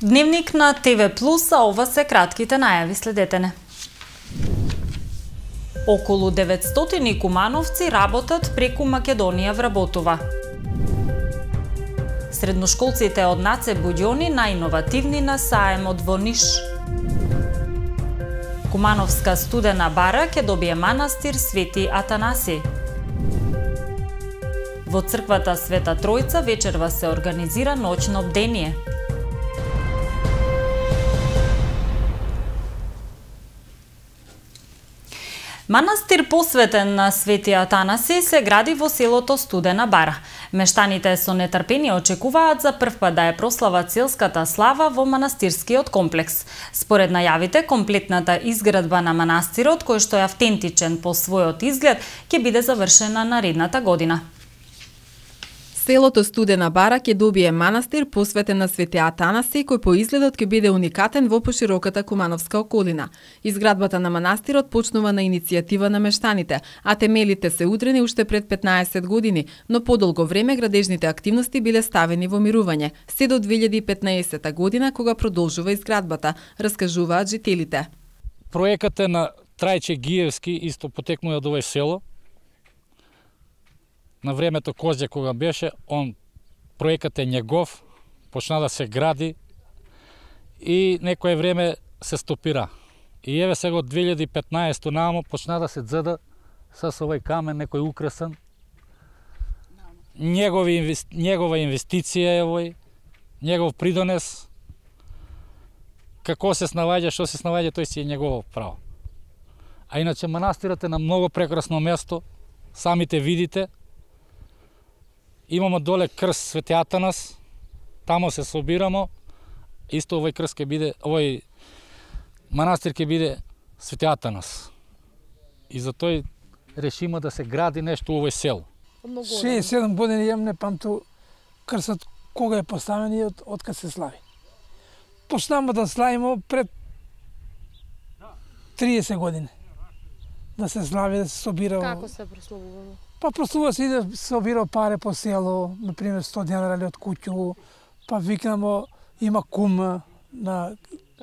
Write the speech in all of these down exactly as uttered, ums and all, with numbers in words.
Дневник на ТВ Плюс, а ова се кратките најави, следете не. Околу деветстотини кумановци работат преку Македонија вработува. Средношколците од НАЦЕ Буѓони најиновативни на саемот во Ниш. Кумановска студена бара ќе добие манастир Свети Атанаси. Во црквата Света Тројца вечерва се организира ноќно бдение. Манастир посветен на Свети Атанаси се гради во селото Студена бара. Мештаните со нетрпение очекуваат за прв пат да ја прослават селската слава во манастирскиот комплекс. Според најавите, комплетната изградба на манастирот, кој што е автентичен по својот изглед, ќе биде завршена наредната година. Селото Студена бара ќе добие манастир посветен на Свети Атанаси, кој по изгледот ќе биде уникатен во пошироката кумановска околина. Изградбата на манастирот почнува на иницијатива на мештаните, а темелите се удрени уште пред петнаесет години, но подолго време градежните активности биле ставени во мирување, се до две илјади и петнаесета година кога продолжува изградбата, раскажуваат жителите. Проекатот е на Трајче Гиевски, исто потекнува од овој село. На времето Козје кога беше, он проекат е негов, почна да се гради и некое време се стопира. И еве сега од две илјади и петнаесета намо почна да се дзеда со овој камен некој украсен. Негови, негова инвестиција е овој, негов придонес. Како се снаоѓа, што се снаоѓа, тој си е негово право. А иначе манастирот е на многу прекрасно место, самите видите. Имамо доле крст Свети Атанас, тамо се собирамо, исто овој крст ќе биде, овој манастир ќе биде Свети Атанас. И за тој решимо да се гради нешто во овој село. шеесет и седум години јам не памту крстот кога е поставен и од, од кога се слави. Почнамо да славимо пред триесет години. Да се слави, да се собира. Како се прославувало? Па прославува се и да собира пари по село, например сто денара од куќу, па викнамо има кум на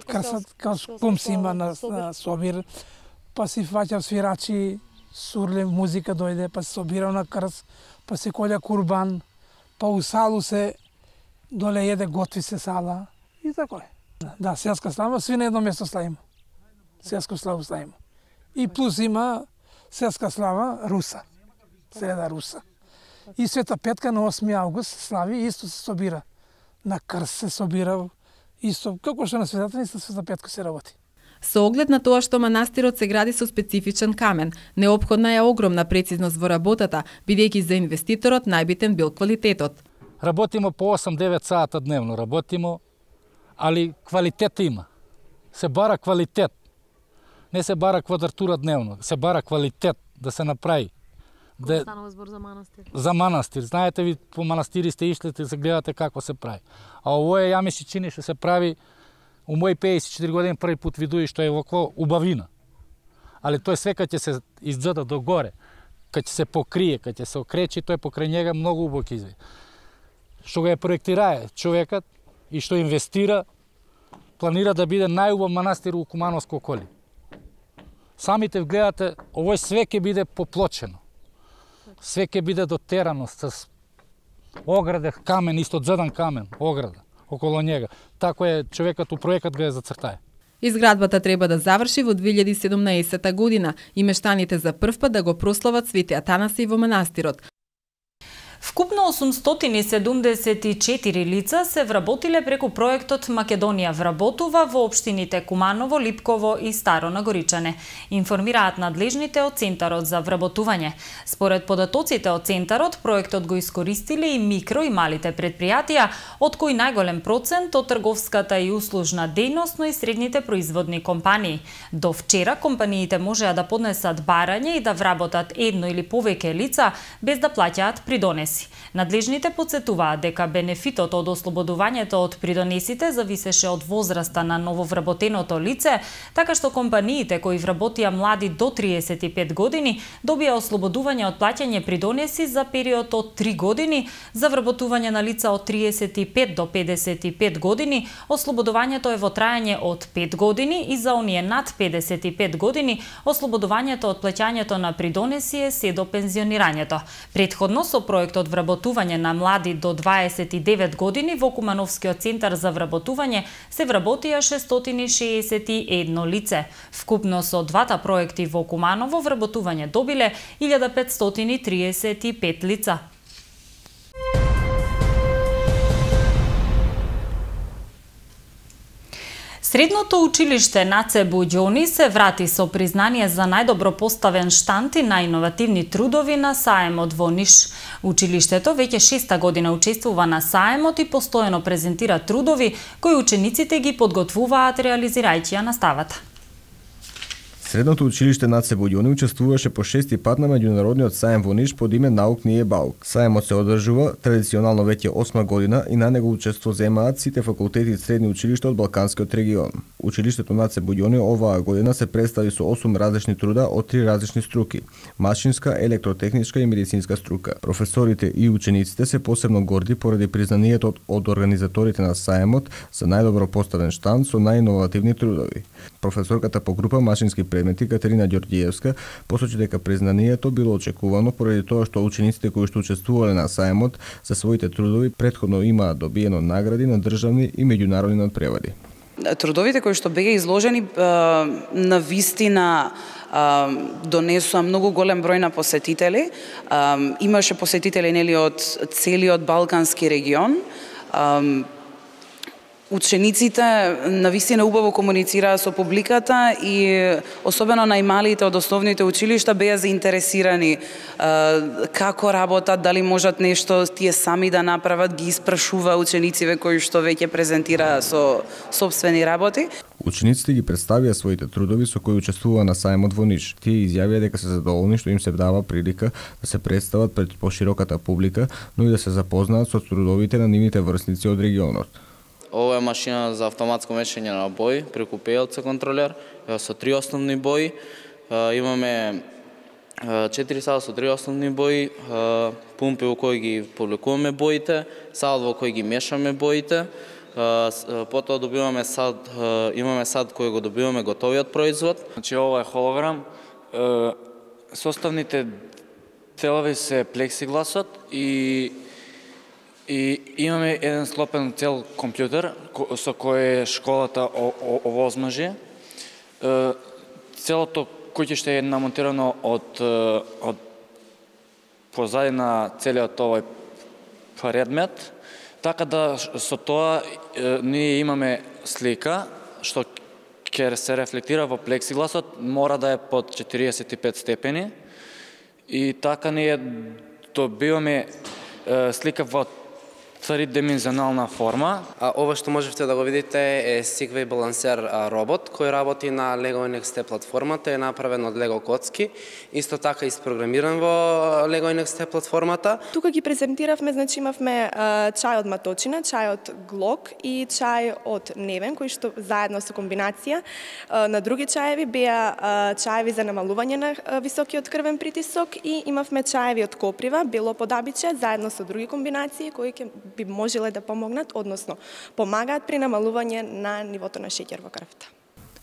крсат, кум си има на, на собир, па си фаќа свирачи, сурле, музика дојде, па се собира на крс, па се колја курбан, па у салу се доле еде, готви се сала и тако е. Да, селска слава, сви на едно место славимо. Селска слава славимо. И плюс има селска слава Руса. Среда Руса. И Света Петка на осми август слави, исто се собира. На крст се собира, исто, како што на Светата, исто Света Петка се работи. Со оглед на тоа што манастирот се гради со специфичен камен, неопходна е огромна прецизност во работата, бидејќи за инвеститорот најбитен бил квалитетот. Работимо по осем-девет сата дневно, работимо, али квалитет има. Се бара квалитет. Не се бара квадратура дневно, се бара квалитет да се направи. Кога станува збор за манастир? За манастир. Знаете, ви по манастири сте ишли, да се гледате како се прави. А овој ја ми се чини што се прави у мои пеесет и четири години први пат видуи што е вако убавина. Али тој све кога ќе се изгледа до горе, кога ќе се покрие, кога ќе се окречи, тој покрај njega многу убаво ќе изгледа. Што го е проектирае човекот и што инвестира, планира да биде најубав манастир у Кумановско околие. Самите гледате, овој све ќе биде поплочено. Све ќе биде дотерано с ограде, камен, исто дзедан камен, ограда околу njega. Тако е човекот у проектот го е зацртај. Изградбата треба да заврши во две илјади и седумнаесета година и мештаните за прв пат да го прослават Свети Атанаси во манастирот. Вкупно осумстотини седумдесет и четири лица се вработиле преку проектот Македонија вработува во општините Куманово, Липково и Старо Нагоричане, информираат надлежните од Центарот за вработување. Според податоците од Центарот, проектот го искористиле и микро и малите предпријатија, од кои најголем процент од трговската и услужна дејност, но и средните производни компании. До вчера компаниите можеа да поднесат барање и да вработат едно или повеќе лица без да плаќаат придонеси. придонеси. Надлежните потсетуваат дека бенефитот од ослободувањето од придонесите зависеше од возраста на нововработеното лице, така што компаниите кои вработија млади до триесет и пет години добија ослободување од плаќање придонеси за период од три години, за вработување на лица од триесет и пет до педесет и пет години ослободувањето е во трајање од пет години и за оние над педесет и пет години ослободувањето од плаќањето на придонеси е се до пензионирањето. Претходно со проектот вработување на млади до дваесет и девет години во Кумановскиот центар за вработување се вработија шестстотини шеесет и едно лице. Вкупно со двата проекти во Куманово вработување добиле илјада петстотини триесет и пет лица. Средното училиште Наце Буѓони се врати со признание за најдобро поставен штанд и најиновативни трудови на саемот во Ниш. Училиштето веќе шеста година учествува на саемот и постојано презентира трудови кои учениците ги подготвуваат реализирајќи ја наставата. Средното училиште Наце Буѓони учествуваше по шести пат на меѓународниот саем во Ниш под име Наук Није Баук. Саемот се одржува традиционално веќе осма година и на него учество земаат сите факултети и средни училишта од Балканскиот регион. Училиштето Наце Буѓони оваа година се представи со осум различни труда од три различни струки: машинска, електротехничка и медицинска струка. Професорите и учениците се посебно горди поради признанието од, од организаторите на саемот за најдобро поставен штанд со најиновативни трудови. Професорката по група машински предмети Катерина Ѓорѓиевска посочи дека признанието било очекувано поради тоа што учениците кои што учествувале на саемот за своите трудови претходно имаат добиено награди на државни и меѓународни надпревари. Трудовите кои што беа изложени на вистина донесува многу голем број на посетители. Имаше посетители нели од целиот Балкански регион. Учениците навистина убаво комуницираа со публиката и особено најмалите од основните училишта беа заинтересирани како работат, дали можат нешто тие сами да направат, ги испрашува учениците кои што веќе презентираа со сопствени работи. Учениците ги представија своите трудови со кои учествуваа на саемот во Ниш. Тие изјавија дека се задоволни што им се дава прилика да се представат пред пошироката публика, но и да се запознаат со трудовите на нивните врсници од регионот. Ова е машина за автоматско мешање на бои преку пе ел си контролер со три основни бои. Имаме четири сала со три основни бои, пумпи во кои ги повлекуваме боите, сад во кои ги мешаме боите. Потоа добиваме сад, имаме сад кој го добиваме готовиот производ. Значи ова е холограм. Составните делови се плексигласот и И имаме еден склопен цел компјутер со кој школата овозможи. Целото куќиште е намонтирано од, од позади на целиот овој предмет, така да со тоа ние имаме слика што ќе се рефлектира во плексигласот, мора да е под четириесет и пет степени и така ние добиваме слика во тридимензионална форма. А ова што можевте да го видите е Segway балансер робот кој работи на Lego ен екс ти платформата, е направен од Lego коцки, исто така испрограмиран во Lego ен екс ти платформата. Тука ги презентиравме, значи имавме чај од маточина, чај од глок и чај од невен, кои што заедно со комбинација на други чаеви беа чаеви за намалување на високиот крвен притисок и имавме чаеви од коприва, бело подабиче, заедно со други комбинации кои ќе би можеле да помогнат, односно помагаат при намалување на нивото на шеќер во крвта.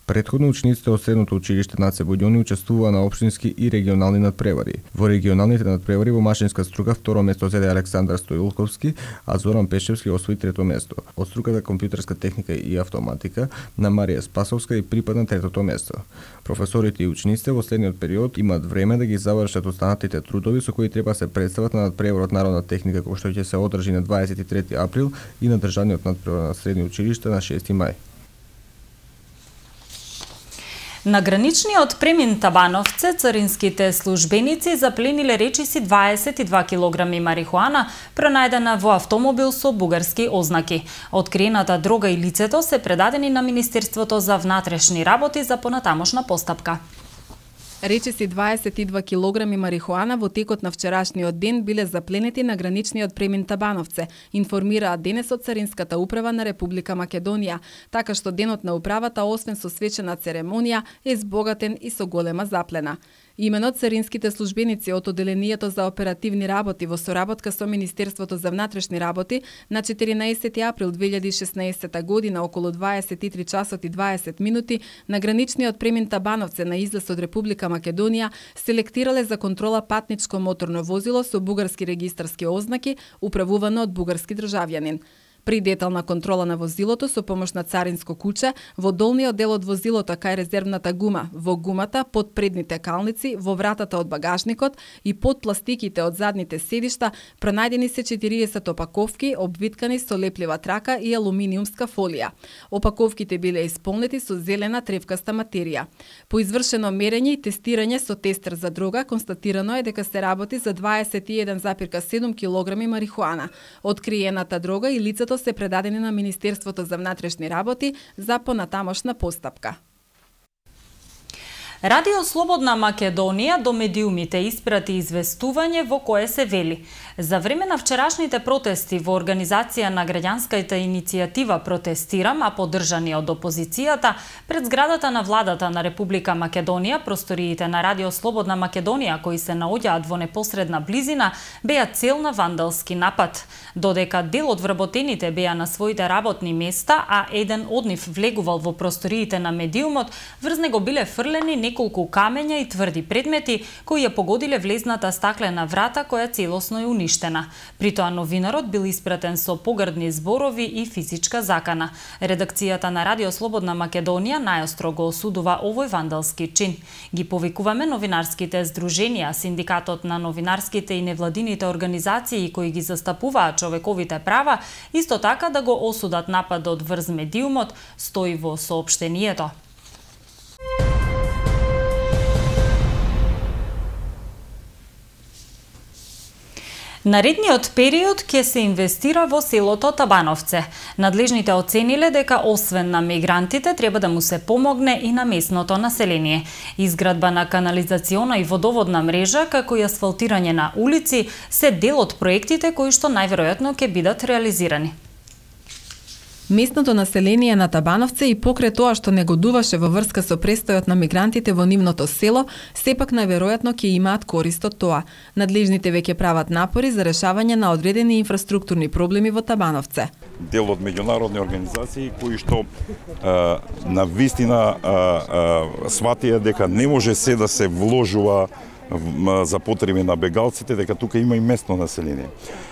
Претходно учениците од средното училиште Наце Буѓони учествуваа на општински и регионални надпревари. Во регионалните надпревари во машинска струка второ место зеде Александар Стоилковски, а Зоран Пешевски освои трето место. Од струката компјутерска техника и автоматика на Марија Спасовска и припадна третото место. Професорите и учениците во следниот период имаат време да ги завршат останатите трудови со кои треба се представат на надпреворот Народна техника кој што ќе се одржи на дваесет и трети април и на државниот надпревар на средни училишта на шести мај. На граничниот премин Табановце царинските службеници заплениле речиси дваесет и два килограми марихуана пронајдена во автомобил со бугарски ознаки. Откриената дрога и лицето се предадени на Министерството за внатрешни работи за понатамошна постапка. Речиси дваесет и два килограми марихуана во текот на вчерашниот ден биле запленети на граничниот премин Табановце, информираа денес од Царинската управа на Република Македонија, така што денот на управата, освен со свечена церемонија, е збогатен и со голема заплена. Имено царинските службеници од Оделенијето за оперативни работи во соработка со Министерството за внатрешни работи на четиринаесети април две илјади и шеснаесета година околу дваесет и три часот и дваесет минути на граничниот премин Табановце на излез од Република Македонија селектирале за контрола патничко моторно возило со бугарски регистарски ознаки управувано од бугарски државјанин. При детална контрола на возилото со помош на царинско куче, во долниот дел од возилото кај резервната гума, во гумата, под предните калници, во вратата од багажникот и под пластиките од задните седишта пронајдени се четириесет опаковки обвиткани со леплива трака и алуминиумска фолија. Опаковките биле исполнети со зелена тревкаста материја. По извршено мерење и тестирање со тестер за дрога констатирано е дека се работи за дваесет и еден зарез седум килограми марихуана. Откриената дрога и лицето се предадени на Министерството за внатрешни работи за понатамошна постапка. Радио Слободна Македонија до медиумите испрати известување во кое се вели: за време на вчерашните протести во организација на граѓанската иницијатива Протестирам, а поддржани од опозицијата, пред зградата на владата на Република Македонија, просториите на Радио Слободна Македонија, кои се наоѓаат во непосредна близина, беа цел на вандалски напад. Додека дел од вработените беа на своите работни места, а еден од нив влегувал во просториите на медиумот, врз него биле фрлени неколку камења и тврди предмети кои ја погодиле влезната стаклена врата која целосно е уништена. При тоа новинарот бил испратен со погрдни зборови и физичка закана. Редакцијата на Радио Слободна Македонија најостро го осудува овој вандалски чин. Ги повикуваме новинарските здруженија, синдикатот на новинарските и невладините организации кои ги застапуваат човековите права, исто така да го осудат нападот врз медиумот, стои во соопштението. Наредниот период ќе се инвестира во селото Табановце. Надлежните оцениле дека освен на мигрантите треба да му се помогне и на местното население. Изградба на канализациона и водоводна мрежа, како и асфалтирање на улици, се дел од проектите кои што најверојатно ќе бидат реализирани. Местното население на Табановце и покрај тоа што негодуваше во врска со престојот на мигрантите во нивното село, сепак најверојатно ќе имаат корист од тоа. Надлежните веќе прават напори за решавање на одредени инфраструктурни проблеми во Табановце. Дел од меѓународни организации кои што а, на вистина сватија дека не може се да се вложува за потреби на бегалците, дека тука има и местно население.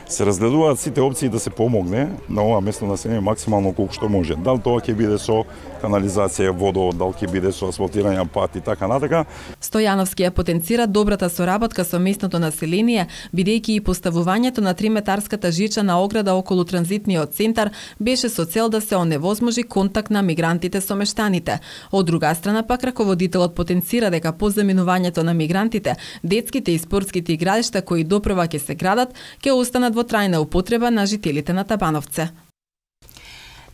Се разгледуваат сите опции да се помогне на ова местно население максимално колку што може. Дал тоа ќе биде со канализација, водовод, дал ќе биде со асфалтирање пат и така натака. Стојановски ја потенцира добрата соработка со местното население, бидејќи и поставувањето на триметарската жичана ограда околу транзитниот центар беше со цел да се оневозможи контакт на мигрантите со мештаните. Од друга страна пак раководителот потенцира дека по заминувањето на мигрантите, детските и спортските игралишта кои допрва ќе се градат, ќе останат во трајна употреба на жителите на Табановце.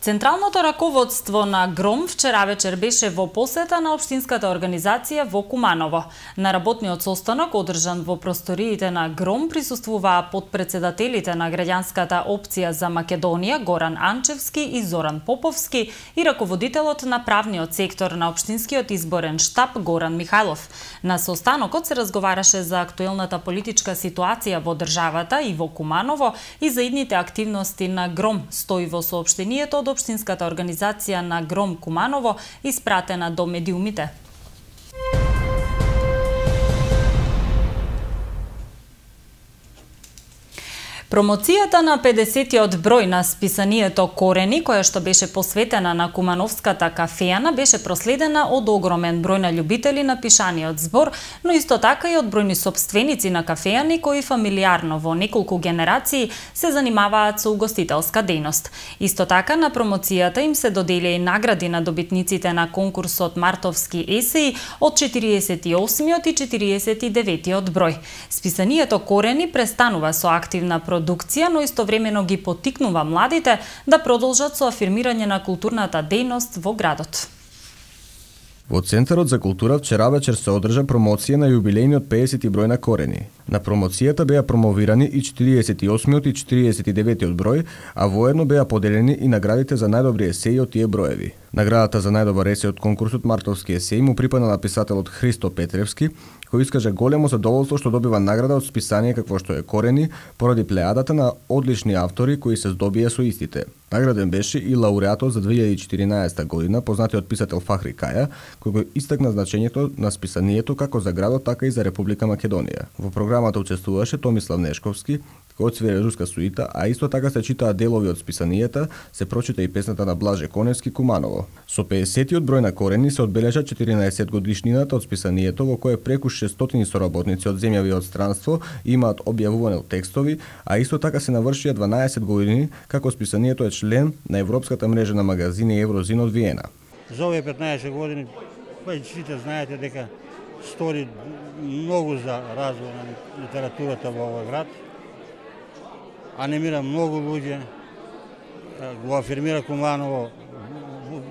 Централното раководство на ГРОМ вчера вечер беше во посета на општинската организација во Куманово. На работниот состанок, одржан во просториите на ГРОМ, присуствуваа подпредседателите на граѓанската опција за Македонија Горан Анчевски и Зоран Поповски и раководителот на правниот сектор на општинскиот изборен штаб Горан Михајлов. На состанокот се разговараше за актуелната политичка ситуација во државата и во Куманово и за идните активности на ГРОМ, стои во соопштението од општинската организација на ГРОМ Куманово, испратена до медиумите. Промоцијата на педесетиот број на списанието Корени, која што беше посветена на Кумановската кафејана, беше проследена од огромен број на љубители на пишаниот збор, но исто така и од бројни сопственици на кафејани кои фамилиарно во неколку генерации се занимаваат со угостителска дејност. Исто така на промоцијата им се додели и награди на добитниците на конкурсот Мартовски есеи од четириесет и осмиот и четириесет и деветиот број. Списанието Корени престанува со активна продукција, но истовремено ги поттикнува младите да продолжат со афирмирање на културната дејност во градот. Во Центарот за култура вчера вечер се одржа промоција на јубилејниот педесети број на Корени. На промоцијата беа промовирани и четириесет и осмиот и четириесет и деветиот број, а воедно беа поделени и наградите за најдобри есеи од тие броеви. Наградата за најдобар есеј од конкурсот Мартовски есеи му припадна на писателот Христо Петревски, кој искаже големо задоволство што добива награда од списание какво што е Корени, поради плеадата на одлични автори кои се здобија со истите. Награден беше и лауреатот за две илјади и четиринаесета година, познатиот писател Фахри Каја, кој го истакна значењето на списанието како за градот, така и за Република Македонија. Во програмата учествуваше Томислав Нешковски, кој отсвири руска суита, а исто така се читаа делови од списанието, се прочита и песната на Блаже Коневски Куманово. Со педесетиот број на Корени се одбележа четиринаесет годишнината од списанието, во кое преку шестстотини соработници од земјави од странство имаат објавувани текстови, а исто така се навршија дванаесет години како списанието е член на Европската мрежа на магазини Еврозин од Виена. За овие петнаесет години, па и сите знаете дека стори многу за развој на литературата во овој град. Анимира многу луѓе, го афирмира Куманово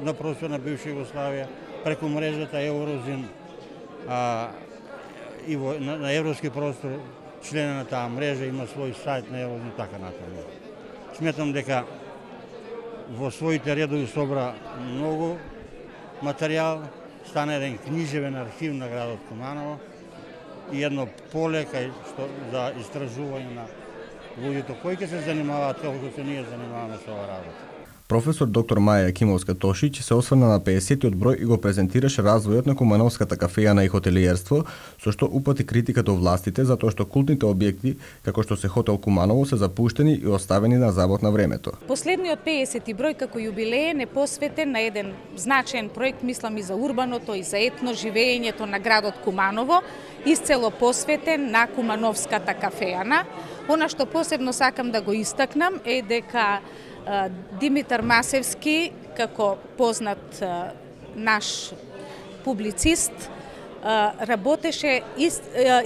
на простор на бивша Југославија, преку мрежата Еврозин, а, и во, на, на европски простор, члена на таа мрежа има свој сајт на Еврозин, така натаму. Сметам дека во своите редови собра многу материјал, стана еден книжевен архив на градот Куманово и едно поле кај што за истражување на луѓето кои ќе се занимаваат како што се ние занимаваме со оваа работа. Професор доктор Маја Јакимовска-Тошиќ се осврна на педесетиот број и го презентираше развојот на кумановската кафејана и хотелиерство, со што упати критика до властите затоа што култните објекти, како што се хотел Куманово, се запуштени и оставени на забот на времето. Последниот педесети број како јубилеен е посветен на еден значаен проект, мислам и за урбаното и за етно живеењето на градот Куманово, исцело посветен на кумановската кафејана. Она што посебно сакам да го истакнам е дека Димитар Масевски, како познат наш публицист, работеше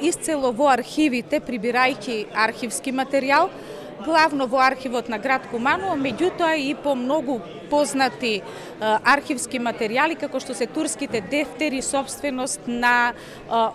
исцело во архивите, прибирајќи архивски материјал, главно во архивот на град Куманово, меѓутоа и по многу познати архивски материјали, како што се турските дефтери, собственост на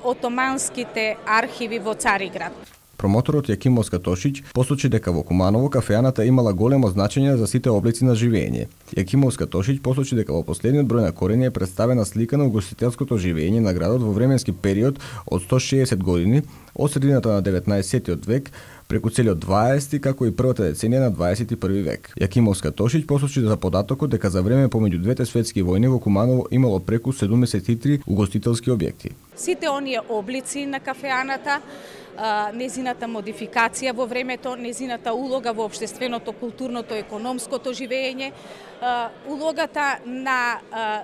отоманските архиви во Цариград. Промоторот Јакимовска-Тошиќ посочи дека во Куманово кафејаната имала големо значење за сите облици на живење. Јакимовска-Тошиќ посочи дека во последниот број на Корени е представена слика на угостителското живење на градот во временски период од сто шеесет години, од средината на деветнаесеттиот век, преку целиот дваесети, како и првата деценија на дваесет и први век. Јакимовска-Тошиќ посочи за податокот дека за време помеѓу двете светски војни во Куманово имало преку седумдесет и три угостителски објекти. Сите оние облици на кафејаната, незината модификација во времето, незината улога во општественото, културното, економското живење, улогата на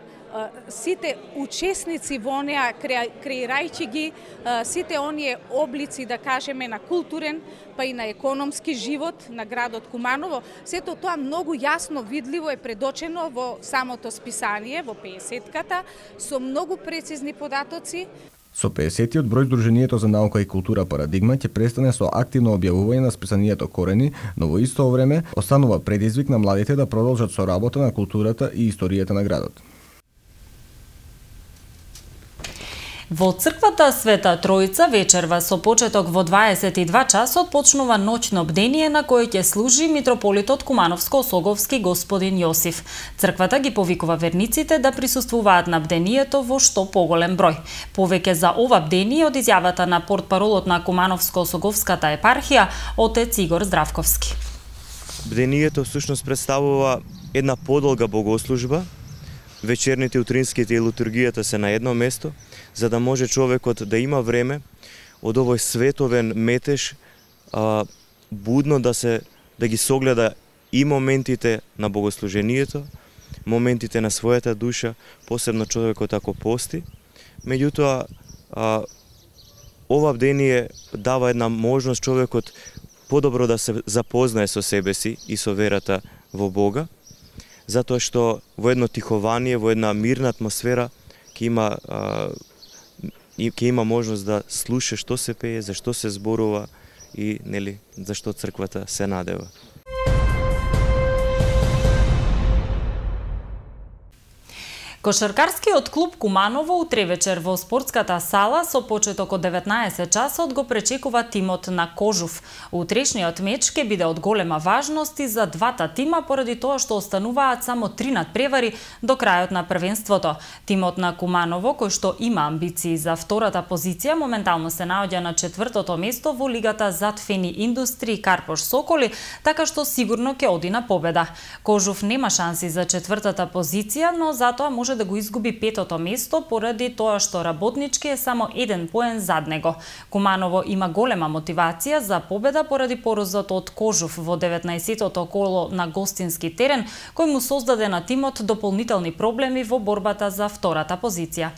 сите учесници во неа, креирајќи ги сите оние облици, да кажеме, на културен, па и на економски живот на градот Куманово, сето тоа многу јасно видливо е предочено во самото списание, во педесетката, со многу прецизни податоци. Со педесетиот број Сдруженијето за наука и култура Парадигма ќе престане со активно објавување на списанието Корени, но во исто време останува предизвик на младите да продолжат со работа на културата и историјата на градот. Во црквата Света Тројца вечерва со почеток во дваесет и два часот почнува ноќно бдение на кое ќе служи митрополитот Кумановско-Осоговски господин Јосиф. Црквата ги повикува верниците да присуствуваат на бдението во што поголем број. Повеќе за ова бдение од изјавата на портпаролот на Кумановско-Осоговската епархија отец Игор Здравковски. Бдението всушност представува една подолга богослужба. Вечерните, утринските и литургијата се на едно место, за да може човекот да има време од овој световен метеж а, будно да се да ги согледа и моментите на богослужението, моментите на својата душа, посебно човекот ако пости. Меѓутоа, а, ова бдение дава една можност човекот подобро да се запознае со себе си и со верата во Бога, затоа што во едно тихование, во една мирна атмосфера ќе има а, и ќе има можност да слуша што се пее, за што се зборува и нели за што црквата се надева. Кошаркарскиот клуб Куманово утре вечер во спортската сала со почеток од деветнаесет часот го пречекува тимот на Кожув. Утрешниот меч ќе биде од голема важност и за двата тима поради тоа што остануваат само три надпревари до крајот на првенството. Тимот на Куманово, кој што има амбиции за втората позиција, моментално се наоѓа на четвртото место во лигата зад Фени Индустри Карпош Соколи, така што сигурно ќе оди на победа. Кожув нема шанси за четвртата позиција, но затоа може да го изгуби петото место поради тоа што работнички е само еден поен зад него. Куманово има голема мотивација за победа поради поразот од Кожув во деветнаесеттото коло на гостински терен, кој му создаде на тимот дополнителни проблеми во борбата за втората позиција.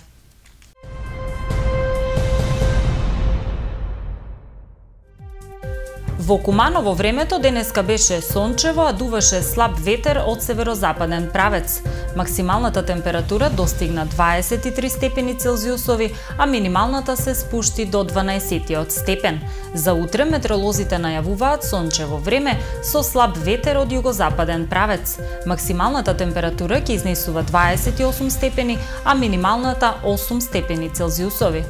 Во Куманово времето денеска беше сончево, а дуваше слаб ветер од северозападен правец. Максималната температура достигна дваесет и три степени Целзиусови, а минималната се спушти до дванаесет степен. За утре метеоролозите најавуваат сончево време со слаб ветер од југозападен правец. Максималната температура ќе изнесува дваесет и осум степени, а минималната осум степени Целзиусови.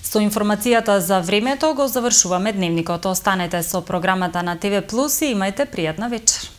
Со информацијата за времето го завршуваме дневникот. Останете со програмата на ТВ Плюс и имајте пријатна вечер.